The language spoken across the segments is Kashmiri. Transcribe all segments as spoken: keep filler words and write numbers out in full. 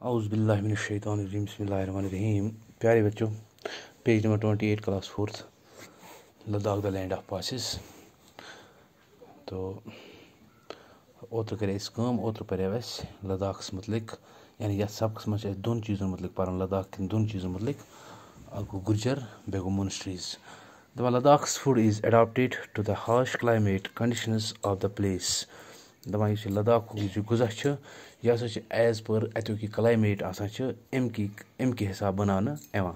اعوذ باللہ من الشیطان الرجیم، بسم اللہ الرحمن الرحیم۔ پیارے بچوں، page number twenty eight, class fourth, Ladakh the land of passes. تو اوترٕ کَرے اَسہِ کٲم، اوترٕ پَریو اَسہِ لداخَس مُتعلِق، یعنی یَتھ سبقَس منٛز چھِ اَسہِ دۄن چیٖزَن مُتعلِق پَرُن، لداخ کٮ۪ن دۄن چیٖزَن مُتعلِق۔ اَکھ گوٚو گُرجَر، بیٚیہِ گوٚو monasteries. دَپان، Ladakh's food is adapted to the harsh climate conditions of the place. دَپان، یُس یہِ لداخُک یُس یہِ غذا چھُ، یہِ ہسا چھُ as per اَتیُک یہِ climate آسان چھُ، اَمہِ کہِ، اَمہِ کہِ حساب بَناونہٕ یِوان۔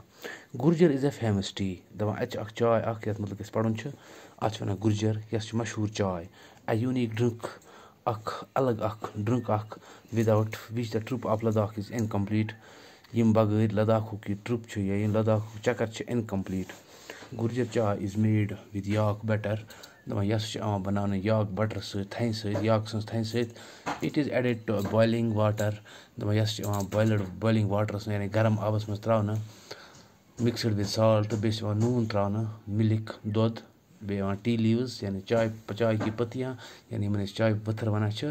گُرجَر is a famous tea. دَپان، اَتہِ چھِ اَکھ چاے اَکھ، یَتھ مُتعلِق أسۍ پَرُن چھُ، اَتھ چھِ وَنان گُرجَر، یۄس چھِ مشہوٗر چاے۔ A unique drink، اَکھ الگ اَکھ drink اَکھ، without which the trip of Ladakh is incomplete. ییٚمہِ بغٲر لداخُک یہِ trip چھُ یا یہِ لداخُک چکر چھُ incomplete. گُرجَر چاے is made with yak butter. دَپان، یہِ ہسا چھِ یِوان بَناونہٕ yak butter سۭتۍ، تھَنہِ سۭتۍ، yak سٕنٛز تھَنہِ سۭتۍ۔ It is added to boiling water. دَپان، یہِ ہسا چھِ یِوان boiled، boiling water سۭتۍ، یعنی گرم آبَس منٛز ترٛاونہٕ، mixed with salt، تہٕ بیٚیہِ چھِ یِوان نوٗن ترٛاونہٕ، milk، دۄد، بیٚیہِ یِوان tea leaves، یعنی چاے، چاے کی پتیاں، یعنی یِمَن أسۍ چاے پٔتھٕر وَنان چھِ،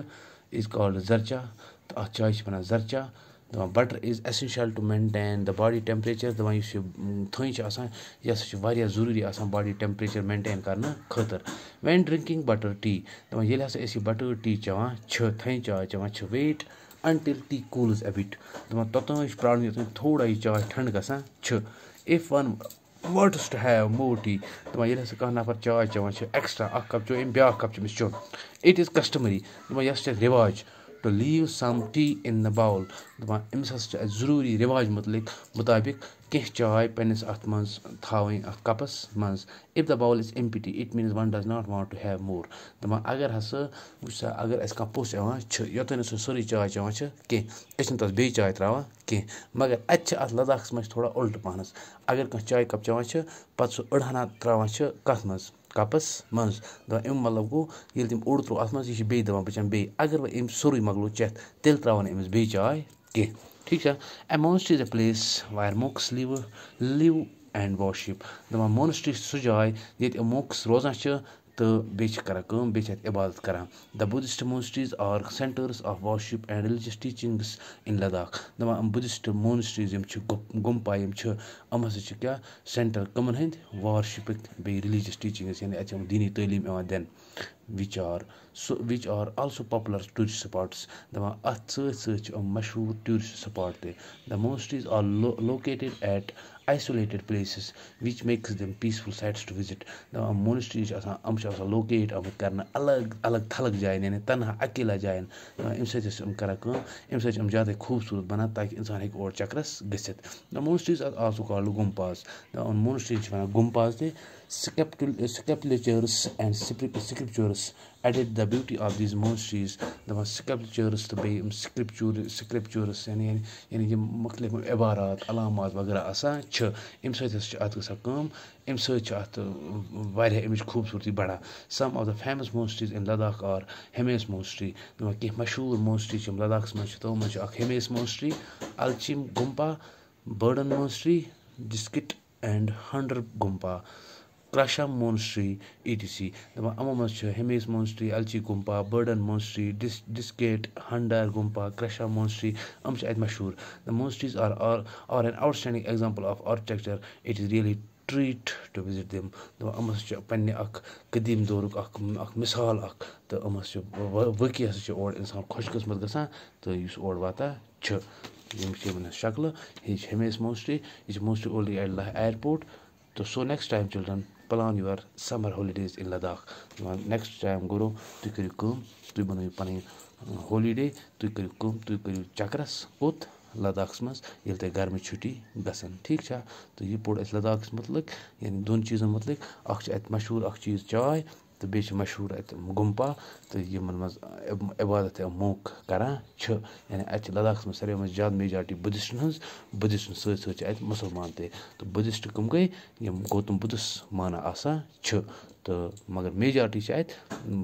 is called زرچا، تہٕ اَتھ چایہِ چھِ وَنان زرچا۔ دَپان، butter is essential to maintain the body temperature. دَپان، یُس یہِ، م، تھٔنۍ چھِ آسان، یہِ ہسا چھِ واریاہ ضروٗری آسان body temperature maintain کرنہٕ خٲطرٕ۔ When drinking butter tea، دَپان، ییٚلہِ ہسا أسۍ یہِ butter tea چٮ۪وان چھِ، تھٔنۍ چاے چٮ۪وان چھِ، wait until tea cools a bit. دَپان، توٚتام چھِ پرٛارُن، یوٚتام تھوڑا یہِ چاے ٹھنٛڈٕ گژھان چھِ۔ If one wants to have more tea، دَپان، ییٚلہِ ہسا کانٛہہ نفر چاے چٮ۪وان چھِ extra، اکھ cup چیوٚو أمۍ، بیٛاکھ cup چھُ أمِس چیوٚن۔ It is customary، دَپان، یہِ ہسا چھِ رِواج، to leave some tea in the bowl۔ دَپان، أمِس ہسا چھِ اَسہِ ضروٗری رِواج مُتعلِق، مُطابِق کینٛہہ چاے پنٛنِس اَتھ منٛز تھاوٕنۍ، اَتھ کَپَس منٛز۔ If the bowl is empty, it means one does not want to have more۔ دَپان، اگر ہسا، وٕچھ سا، اگر اَسہِ کانٛہہ پوٚژھ یِوان چھُ، یوٚتام نہٕ سُہ سٲرٕے چاے چٮ۪وان چھِ کینٛہہ، أسۍ چھِنہٕ تَس بیٚیہِ چاے ترٛاوان کینٛہہ۔ مگر اَتہِ چھِ اَتھ لداخَس منٛز چھِ تھوڑا اُلٹہٕ پَہنَس۔ اگر کانٛہہ چاے cup چٮ۪وان چھِ، پَتہٕ سُہ أڑہَنا ترٛاوان چھِ کَتھ منٛز؟ کَپَس منٛز۔ دَپان، اَمیُک مطلب گوٚو، ییٚلہِ تٔمۍ اوٚڑ ترٛوو اَتھ منٛز، یہِ چھِ بیٚیہِ دَپان، بہٕ چٮ۪مہٕ بیٚیہِ۔ اگر وۄنۍ أمۍ سورُے مۄکلو چٮ۪تھ، تیٚلہِ ترٛاوَن أمِس بیٚیہِ چاے کینٛہہ۔ ٹھیٖک چھا؟ A monastery is a place where monks live, live and worship۔ دَپان، monastery چھِ سُہ جاے، ییٚتہِ monks روزان چھِ تہٕ بیٚیہِ چھِ کران کٲم، بیٚیہِ چھِ اَتہِ عبادت کران۔ The Buddhist monasteries are centers of worship and religious teachings in Ladakh۔ دَپان، یِم Buddhist monasteries یِم چھِ، گُ-، گُمپا یِم چھِ، یِم ہسا چھِ کیٛاہ؟ Center کٕمَن ہٕنٛدۍ؟ Worshipٕکۍ، بیٚیہِ religious teachings، یعنی اَتہِ چھِ یِم دیٖنی تعلیٖم یِوان دِنہٕ۔ Which are so, which are also popular tourist spots۔ دَپان، اَتھ سۭتۍ سۭتۍ چھِ یِم مشہوٗر tourist spot تہِ۔ The monasteries are lo-, located at isolated places, which makes them peaceful sites to visit۔ دَپان، monasteries چھِ آسان، یِم چھِ آسان locate آمٕتۍ کرنہٕ الگ الگ تھلک جاین، یعنی تنہا اکیلا جاین۔ دَپان، اَمہِ سۭتۍ ٲسۍ یِم کران کٲم، اَمہِ سۭتۍ چھِ یِم زیادَے خوٗبصوٗرت بَنان، تاکہِ اِنسان ہیٚکہِ اور چکرَس گٔژھِتھ۔ The monasteries are also called gumpas۔ دَپان، monastery چھِ وَنان gumpas تہِ۔ Sculptu-, sculptures and scrip-, sculptures added the beauty of these monasteries۔ دَپان، sculptures تہٕ بیٚیہِ یِم scripture-، sculptures، یعنی، یعنی، یعنی یِم مُختٔلِف عبارات، علامات وغیرہ آسان چھِ، اَمہِ سۭتۍ ہسا چھِ اَتھ گژھان کٲم، اَمہِ سۭتۍ چھِ اَتھ، اۭں، واریاہ اَمِچ خوٗبصوٗرتی بڑان۔ Some of the famous monasteries in Ladakh are Hemis Monastery۔ دَپان، کینٛہہ مشہوٗر monastery چھِ یِم لداخَس منٛز چھِ، تِمو منٛز چھِ اَکھ Hemis Monastery، Alchim Gumpa، Burden Monastery، Diskit and Hundar Gumpa، Krasham Monastery، et cetera۔ دَپان، یِمو منٛز چھِ Hemis Monastery، Alchim Gumpa، Burden Monastery، Dis-, Diskit، Hundar Gumpa، Krasham Monastery، یِم چھِ اَتہِ مشہوٗر۔ The monasteries are, are, are an outstanding example of architecture. It is really treat to visit them۔ دَپان، یِم ہسا چھِ پنٛنہِ اَکھ قدیٖم دورُک اَکھ، اَکھ مِثال اَکھ، تہٕ یِم ہسا چھِ و-، و-، وٲقعی ہسا چھِ اور اِنسان خۄش قٕسمت گژھان، تہٕ یُس اور واتان چھُ۔ یِم چھِ یِمَن ہٕنٛز شکلہٕ۔ یہِ چھِ Hemis Monastery، یہِ چھِ Monastery Old Adelaide Airport۔ تہٕ so next time children, plan your summer holidays in Ladakh۔ دَپان، next time گُرو، تُہۍ کٔرِو کٲم، تُہۍ بَنٲیِو پَنٕنۍ، اۭں، holiday، تُہۍ کٔرِو کٲم، تُہۍ کٔرِو چکرَس کوٚت؟ لداخَس منٛز، ییٚلہِ تۄہہِ گرمٕچ چھُٹی گژھن۔ ٹھیٖک چھا؟ تہٕ یہِ پوٚر اَسہِ لداخَس مُتعلِق، یعنی دۄن چیٖزَن مُتعلِق۔ اَکھ چھِ اَتہِ مشہوٗر اَکھ چیٖز چاے، تہٕ بیٚیہِ چھِ مشہوٗر اَتہِ گُمپا، تہٕ یِمَن منٛز عب-، عبادت یا monk کران چھِ۔ یعنی اَتہِ چھِ لداخَس منٛز ساروی منٛز زیادٕ majority Buddhistن ہٕنٛز، Buddhistن سۭتۍ سۭتۍ چھِ اَتہِ مُسلمان تہِ۔ تہٕ Buddhist کٕم گٔے؟ یِم گوتم بُدھس مانان آسان چھِ۔ تہٕ مگر میجارٹی چھِ اَتہِ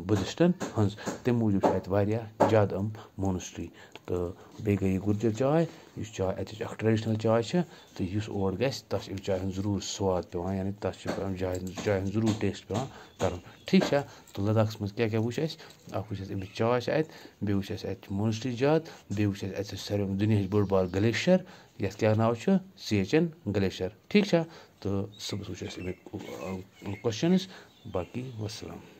بُدھِسٹَن ہٕنٛز، تَمہِ موٗجوٗب چھِ اَتہِ واریاہ زیادٕ یِم مونسٹری۔ تہٕ بیٚیہِ گٔے یہِ گُجَر چاے، یُس چاے اَتِچ اَکھ ٹریڈیشنَل چاے چھِ، تہٕ یُس اور گژھِ، تَتھ چھِ اَمہِ چایہِ ہُنٛد ضروٗر سواد پٮ۪وان، یعنی تَتھ چھِ اَمہِ جایہِ ہُنٛد، چایہِ ہُنٛد ضروٗر ٹیسٹ پٮ۪وان کَرُن۔ ٹھیٖک چھا؟ تہٕ لداخَس منٛز کیٛاہ کیٛاہ وٕچھ اَسہِ؟ اَکھ وٕچھ اَسہِ اَمِچ چاے چھِ اَتہِ، بیٚیہِ وٕچھ اَسہِ اَتہِ چھِ مونسٹری زیادٕ، بیٚیہِ وٕچھ اَسہِ اَتہِ چھِ ساروی دُنیاہٕچ بٔڑ بار گلیشیَر، یَتھ کیٛاہ ناو چھُ؟ سیچن گلیشیَر۔ ٹھیٖک چھا؟ تہٕ صُبحَس وٕچھ اَسہِ اَمِکۍ کوسچنٕز، باقٕے وَسَلام۔